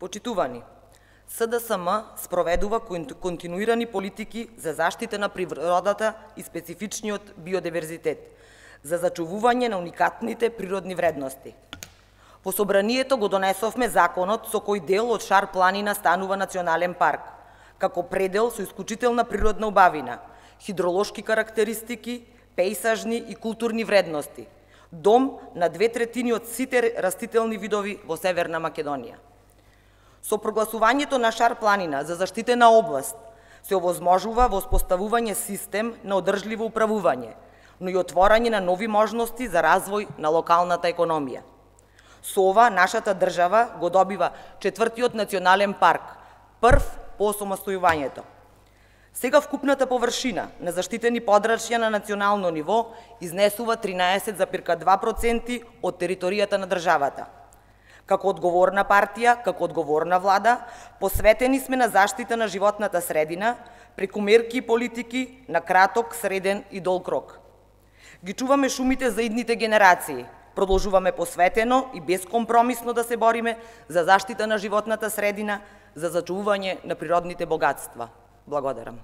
Почитувани, СДСМ спроведува континуирани политики за заштита на природата и специфичниот биодиверзитет, за зачувување на уникатните природни вредности. По собранието го донесовме законот со кој дел од Шар планина станува национален парк, како предел со исклучителна природна убавина, хидролошки карактеристики, пејсажни и културни вредности, дом на 2/3 од сите растителни видови во Северна Македонија. Со прогласувањето на Шар планина за заштитена област се овозможува воспоставување систем на одржливо управување, но и отворање на нови можности за развој на локалната економија. Со ова, нашата држава го добива 4-тиот национален парк, прв по осамостојувањето. Сега вкупната површина на заштитени подрачја на национално ниво изнесува 13,2% од територијата на државата. Како одговорна партија, како одговорна влада, посветени сме на заштита на животната средина, преку мерки и политики на краток, среден и долг рок. Ги чуваме шумите за идните генерации, продолжуваме посветено и безкомпромисно да се бориме за заштита на животната средина, за зачувување на природните богатства. Благодарам.